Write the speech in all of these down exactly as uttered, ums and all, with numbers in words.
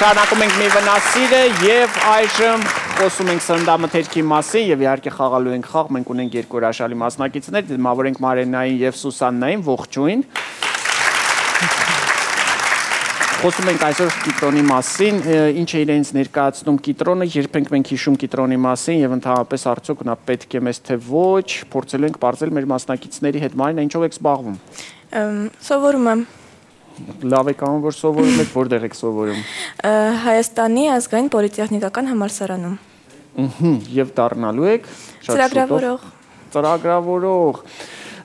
Շարունակում ենք մի վնասիրը եւ այժմ խոսում ենք սննդամթերքի մասին եւ իհարկե խաղալու ենք խաղ, մենք ունենք երկու հրաշալի մասնակիցներ, դիմավորենք Մարենային եւ Սուսաննային, ողջույն։ Խոսում ենք այսօր կիտրոնի մասին, ինչ է իրենց ներկայացնում կիտրոնը, երբեք մենք հիշում կիտրոնի մասին եւ ընդհանրապես արդյոք նա պետք է մեզ թե ոչ, փորձելու ենք բարձել մեր մասնակիցների հետ։ Մարինա, ինչով եք զբաղվում։ Սովորում եմ։ Լավ եք անում, որ սովորում եք, որտեղ եք սովորում։ Հայաստանի ազգային պոլիտեխնիկական համալսարանում։ Եվ դառնալու եք ծրագրավորող։ Ծրագրավորող։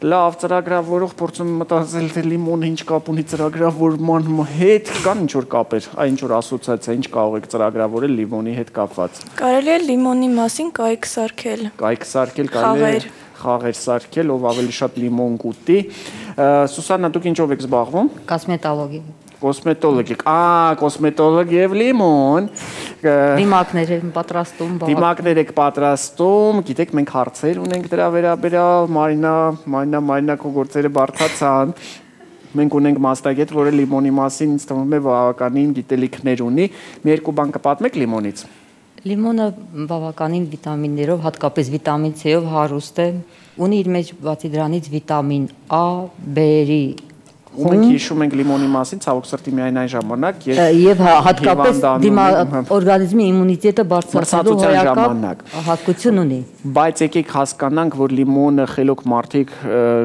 Լավ, ծրագրավորող փորձում եմ մտածել, թե լիմոնը ինչ կապ ունի ծրագրավորման հետ, կան ինչ որ կապեր, այն ինչ որ ասոցիացիա, ինչ կարող եք ծրագրավորել լիմոնի հետ կապված։ Կարելի է լիմոնի մասին կայք սարքել։ Կայք սարքել, կարելի է խաղեր սարքել, ով ավելի շատ լիմոն կուտի։ Սուսաննա, դուք ինչով եք զբաղվում։ Կոսմետոլոգիա։ Կոսմետոլոգ եք, ա, կոսմետոլոգ եւ լիմոն։ Դիմակներ եք պատրաստում, Դիմակներ եք պատրաստում, գիտեք, մենք հարցեր ունենք դրա վերաբերյալ, Մարինա, Մարինա, Մարինա քո գործերը բարդացան։ Մենք ունենք մասնագետ, որը լիմոնի մասին ինձ թվում է բավականին գիտելիքներ ունի։ Մի երկու բան կպատմեք լիմոնից։ Լիմոնը բավականին վիտամիններով, հատկապես վիտամին C-ով հարուստ է, ունի իր մեջ բացի դրանից վիտամին A, B-ի ու մենք հիշում ենք լիմոնի մասին, ցավոք սրտի միայն այն ժամանակ, եւ հատկապես օրգանիզմի իմունիտետը բարձրացնելու հոյակապ հատկություն ունի։ Բայց եկեք հասկանանք, որ լիմոնը խելոք մարդիկ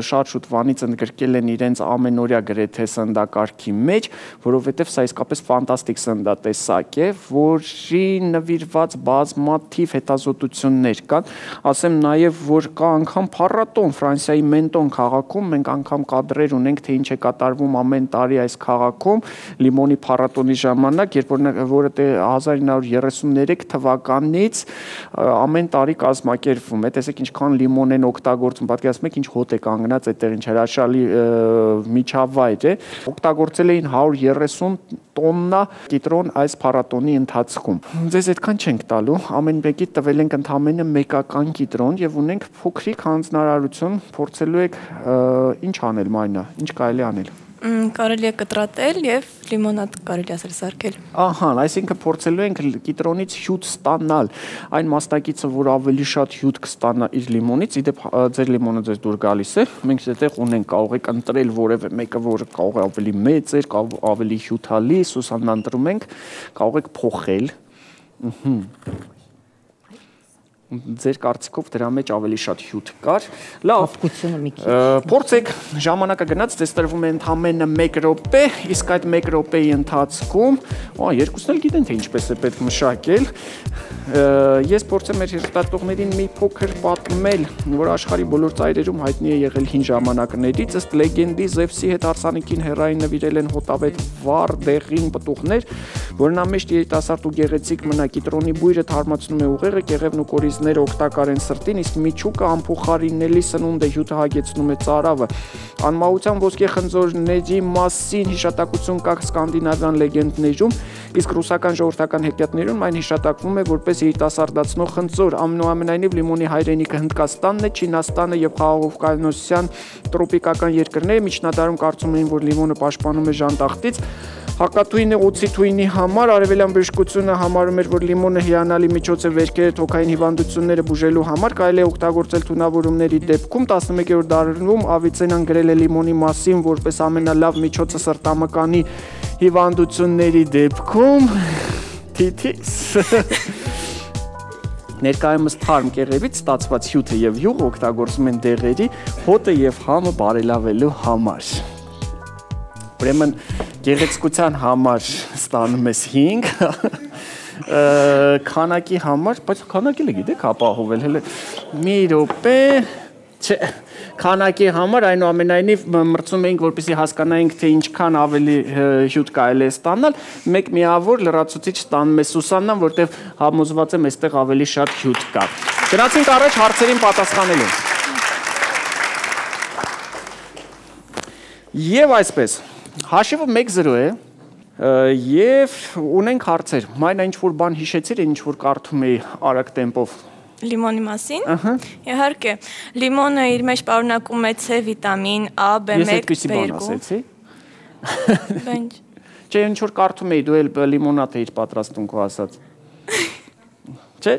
շատ շուտ վանից ընդգրկել են իրենց ամենօրյա գրեթե սննդակարգի մեջ, որովհետեւ սա իսկապես ֆանտաստիկ սննդատեսակ է, որի նվիրված բազմաթիվ հետազոտություններ կան։ Ասեմ նաեւ, որ կա անգամ փառատոն Ֆրանսիայի Մենտոն քաղաքում, մենք անգամ կադրեր ունենք, թե ինչ է կատարվում ամեն տարի այս քաղաքում լիմոնի փառատոնի ժամանակ, երբ որը հազար ինը հարյուր երեսուններեք թվականից ամեն տարի կազմակերպվում է։ Տեսեք ինչքան լիմոն են օգտագործում, պատկերացնում եք ինչ հոտ է կանգնած այդտեղ, ինչ հրաշալի միջավայր է։ Օգտագործել էին հարյուր երեսուն տոննա կիտրոն այս փառատոնի ընթացքում։ Ձեզ այդքան չենք տալու, ամեն մեկի տվել ենք ընդամենը մեկական կիտրոն եւ ունենք փոքրիկ հանձնարարություն, փորձելու եք ինչ անել, Մարինա, ինչ կարելի անել։ Կարելի է կտրատել եւ լիմոնադ կարելի ասել սարքել։ Ահա, այսինքն փորձելու ենք կիտրոնից հյութ ստանալ։ Այն մասնակիցը, որ ավելի շատ հյութ կստանա իր լիմոնից, իդեպ ձեր լիմոնը ձեզ դուր գալիս է, մենք այդտեղ ունենք, կարող եք ընտրել որևէ մեկը, որը կարող է ավելի մեծ է, ավելի հյութալի, Սուսաննա ընտրում ենք, կարող եք փոխել։ Ձեր կարծիքով դրա մեջ ավելի շատ հյութ կար։ Լավ, փորձեք, ժամանակը գնաց, ձեզ տրվում է ընդամենը մեկ րոպե, իսկ այդ մեկ րոպեի ընթացքում, երկուսն էլ գիտեն, թե ինչպես է պետք մշակել։ Ես փորձեմ մեր հերթատողներին մի փոքր պատմել, որ աշխարհի բոլոր ծայրերում հայտնի է եղել հին ժամանակներից, ըստ լեգենդի Զևսի հետ հարսանիքին հերային նվիրել են հոտավետ վառ դեղին պտուղներ, որն ամեշտ երիտասարդ ու գեղեցիկ մնա, կիտրոնի բույրը թարմացնում է ուղեղը, կեղևն ու կորիզները օգտակար են սրտին, իսկ միջուկը անփոխարինելի սնունդ է, հյութը հագեցնում է ծարավը։ Անմահության ոսկե խնձորների մասին հիշատակություն կա սկանդինավյան լեգենդներում, իսկ ռուսական ժողովրդական հեքիաթներում այն հիշատակվում է որպես երիտասարդացնող խնձոր։ Ամենայնիվ լիմոնի հայրենիքը Հնդկաստանն է, Չինաստանը եւ Խաղաղօվկիանոսյան տրոպիկական երկրները միջնադարում կարծում էին, որ լիմոնը պաշտպանում է ժանտախտից։ Հակաթույնը օցիթույնի համար արևելյան բժշկությունը համարում էր, որ լիմոնը հիանալի միջոց է վերքերը թոքային հիվանդությունները բուժելու համար, կարելի է օգտագործել թունավորումների դեպքում։ տասնմեկերորդ դարում Ավիցեննան գրել է լիմոնի մասին որպես ամենալավ միջոցը սրտամկանի հիվանդությունների դեպքում։ Թիթիս։ Ներկայումս թարմ կեղևից ստացված հյութը եւ յուղը օգտագործում են դեղերի, հոտը եւ համը բարելավելու համար։ Ուրեմն գեղեցկության համար ստանում ես հինգ, քանակի համար, բայց քանակելը գիտեք ապահովել, հələ մի րոպե, չէ, քանակի համար այնուամենայնիվ մրցում էինք, որպեսզի հասկանայինք, թե ինչքան ավելի հյութ կարելի է ստանալ, մեկ միավոր լրացուցիչ ստանում է Սուսաննան, որտեղ համոզված եմ այստեղ ավելի շատ հյութ կա։ Գնացինք առաջ հարցերին պատասխանելու։ Եվ այսպես, հաշիվը մեկ զրո է եւ ունենք հարցեր։ Մայնա ինչ-որ բան հիշեցիր, ինչ-որ կարդում էի արագ տեմպով։ Լիմոնի մասին։ Իհարկե, լիմոնը իր մեջ պարունակում է C վիտամին, A, B one, B two։ Ես այդպիսի բան ասեցի։ Չէ, ինչ որ կարդում էի, դու էլ լիմոնադ էիր պատրաստում քո ասած։ Չէ,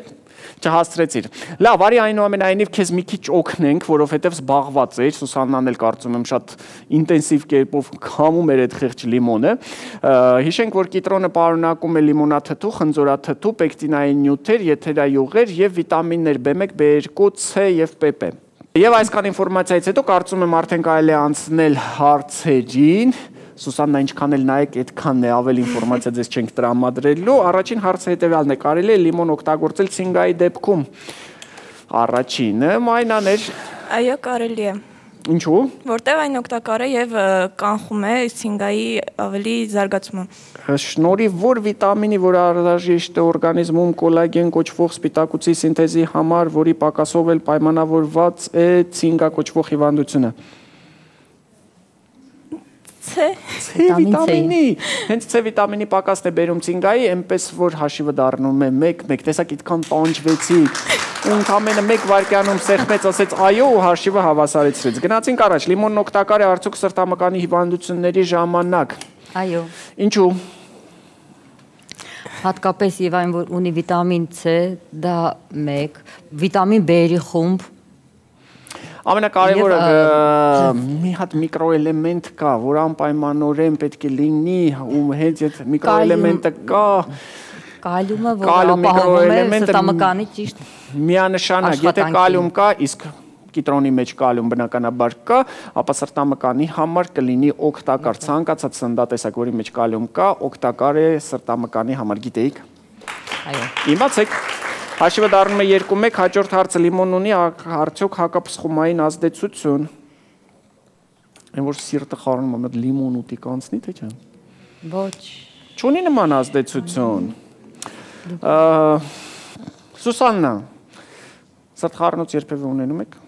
չհասցրեցիր։ Լավ, արի այնուամենայնիվ քեզ մի քիչ օգնենք, որովհետև զբաղված էր, Սուսաննան էլ կարծում եմ շատ ինտենսիվ կերպով քամում էր այդ խեղճ լիմոնը։ Հիշենք, որ կիտրոնը պարունակում է լիմոնաթթու, խնձորաթթու, պեկտինային նյութեր, եթերայուղեր եւ վիտամիններ B one, B two, C եւ P P։ Եվ այսքան ինֆորմացիայից հետո կարծում եմ արդեն կարելի է անցնել հարցերին։ Սուսաննա, ինչքան էլ նայեք, այդքանն է, ավելի ինֆորմացիա ձեզ չենք տրամադրելու։ Առաջին հարցը հետևյալն է, կարելի է լիմոն օգտագործել ցինգայի դեպքում։ Առաջինը մայնաներ։ Այո, կարելի է։ Ինչու՞։ Որտեղ այն օգտակար է եւ կանխում է ցինգայի ավելի զարգացումը։ Շնորհիվ որ վիտամինի, որ անհրաժեշտ է օրգանիզմում կոլագեն կոչվող սպիտակուցի սինթեզի համար, որի պակասով էլ պայմանավորված է ցինգա կոչվող հիվանդությունը։ C վիտամինի։ Հենց C վիտամինի պակասն է բերում ցինգայի, այնպես որ հաշիվը դառնում է մեկ մեկ, տեսակ այդքան տանջվեցիք։ Ընդամենը մեկ վայրկյանում սեղմեց, ասեց այո ու հաշիվը հավասարեցրեց։ Գնացինք առաջ, լիմոնն օգտակար է արդյոք սրտամկանի հիվանդությունների ժամանակ։ Այո։ Ինչու։ Հատկապես եւ այն որ ունի վիտամին C, դա մեկ, վիտամին B-ի խումբ։ Ամենակարևորը մի հատ միկրոէլեմենտ կա, որ անպայմանորեն պետք է լինի, ու հենց այդ միկրոէլեմենտը կա։ Կալիումը, որ ապահովում է սրտամկանի ճիշտ միանշանակ, եթե կալիում կա, իսկ կիտրոնի մեջ կալիում բնականաբար կա, ապա սրտամկանի համար կլինի օգտակար, ցանկացած սննդատեսակ, որի մեջ կալիում կա, օգտակար է սրտամկանի համար, գիտեիք։ Այո։ Իմացեք։ Հաշիվը դառնում է երկու մեկ, հաջորդ հարցը լիմոնն ունի արդյոք հակապսխումային ազդեցություն։ Այն որ սիրտը խառնում է, լիմոն ուտի կանցնի, թե չէ։ Ոչ։ Չունի նման ազդեցություն։ Սուսաննա, սրտխառնոց երբևէ ունենում եք։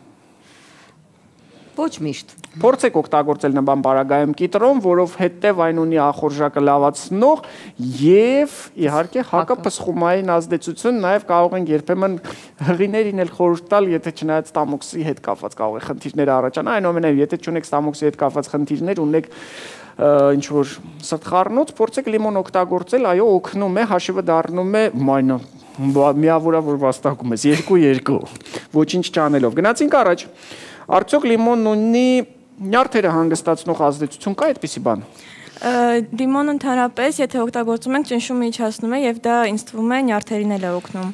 Ոչ միշտ։ Փորձեք օգտագործել նման պարագայում կիտրոն, որովհետև այն ունի ախորժակը լավացնող եւ իհարկե հակապսխումային ազդեցություն, նաեւ կարող են երբեմն հղիներին էլ խորհուրդ տալ, եթե չնայած ստամոքսի հետ կապված կարող է խնդիրներ առաջանա, այնուամենայնիվ եթե չունեք ստամոքսի հետ կապված խնդիրներ, ունեք ինչ որ սրտխառնոց, փորձեք լիմոն օգտագործել, այո, օգնում է, հաշիվը դառնում է մայնա միավորա որ վաստակում ես, երկու երկու, ոչինչ չանելով։ Գնացինք առաջ, արդյոք լիմոնն ունի նյարդերը հանգստացնող ազդեցություն կա այդպիսի բան։ Լիմոնը ընդհանրապես, եթե օգտագործում ենք, ճնշումը իջացնում է եւ դա ինձ թվում է նյարդերին էլ է օգնում։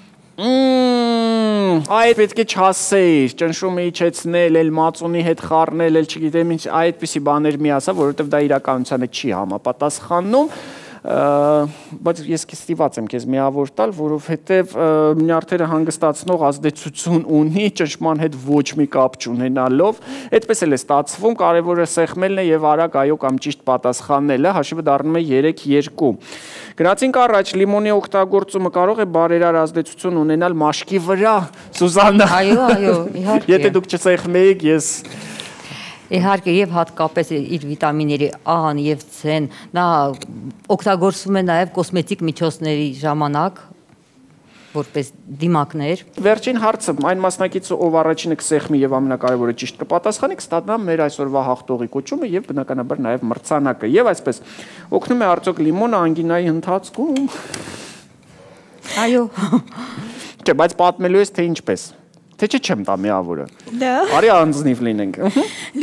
Այդ պետք է չասեիր, ճնշումը իջեցնել, էլ մածունի հետ խառնել, էլ չգիտեմ ինչ, այդպիսի բաներ մի ասա, որովհետեւ դա իրականությանը չի համապատասխանում։ Բայց ես կստիված եմ քեզ միավոր տալ, որովհետև նյարդերը հանգստացնող ազդեցություն ունի, ճնշման հետ ոչ մի կապ չունենալով, այդպես էլ է ստացվում, կարևորը սեղմելն է եւ արագ այո կամ ճիշտ պատասխանելը, հաշիվը դառնում է երեք երկու։ Գնացինք առաջ, լիմոնի օգտագործումը կարող է բարերար ազդեցություն ունենալ մաշկի վրա, Սուզաննա։ Այո, այո, իհարկե։ Եթե դուք չսեղմեիք, ես Իհարկե եւ հատկապես իր վիտամինների A-ն եւ C-ն նա օգտագործվում է նաեւ կոսմետիկ միջոցների ժամանակ որպես դիմակներ։ Վերջին հարցը, այն մասնակիցը, ով առաջինը կսեղմի եւ ամենակարևորը ճիշտ կպատասխանի, կստանա մեր այսօրվա հաղթողի կոչումը եւ բնականաբար նաեւ մրցանակը։ Եվ այսպես օգնում է արդյոք լիմոնը անգինայի ընթացքում։ Այո։ Չէ, բայց պատմելու ես թե ինչպես։ Թե չէ չեմ տա միավորը։ Դա։ Արի անձնիվ լինենք։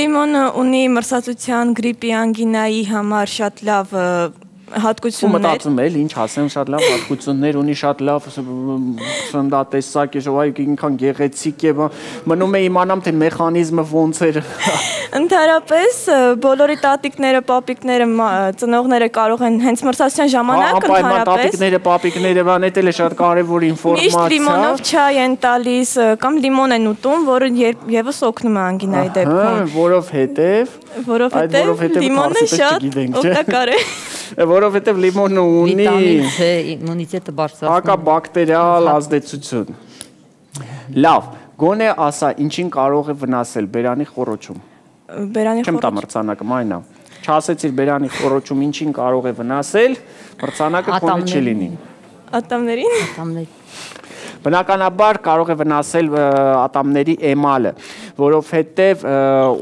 Լիմոնը ունի մրսածության, գրիպի, անգինայի համար շատ լավ հատկություններ։ Ու մտածում էլ ինչ ասեմ, շատ լավ հատկություններ ունի, շատ լավ սննդատեսակ է, այ ինքան գեղեցիկ է, մնում է իմանամ թե մեխանիզմը ոնց էր։ Ընդհանրապես բոլորի տատիկները, պապիկները, ծնողները կարող են հենց մրցասության ժամանակ ընդհանրապես տատիկները, պապիկները, բան էլ է շատ կարևոր ինֆորմացիա։ Միշտ լիմոնով չայ են տալիս կամ լիմոն են ուտում, որը եւս օգնում է անգինայի դեպքում։ Որովհետեւ որովհետեւ լիմոնը շատ օգտակար է։ Որովհետև լիմոնը ունի վիտամին C, իմունիտետը բարձրացնում հակաբակտերիալ ազդեցություն։ Լավ, գոնե ասա, ինչին կարող է վնասել բերանի խոռոչում։ Բերանի խոռոչում։ Չեմ տա մրցանակը, մայնա։ Չասեցիր բերանի խոռոչում ինչին կարող է վնասել, մրցանակը քոնը չի լինի։ Ատամներին։ Ատամների։ Բնականաբար կարող է վնասել ատամների էմալը, որովհետև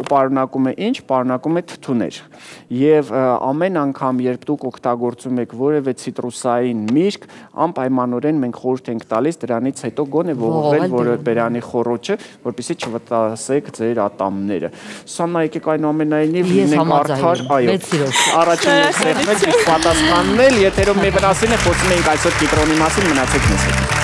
պարունակում է ինչ, պարունակում է թթուներ։ Եվ ամեն անգամ, երբ դուք օգտագործում եք որևէ ցիտրուսային միրգ, անպայմանորեն մենք խորհուրդ ենք տալիս դրանից հետո գոնե ողողել որը բերանի խոռոչը, որպեսզի չվտասեք ձեր ատամները։ Սանա եկեք այնուամենայնիվ լինենք արդար, այո։ Առաջին սեղմել ճիշտ պատասխաննել, եթերում մի վնասին է, խոսում ենք այսօր կիտրոնի մասին, մնացեք մեզ հետ։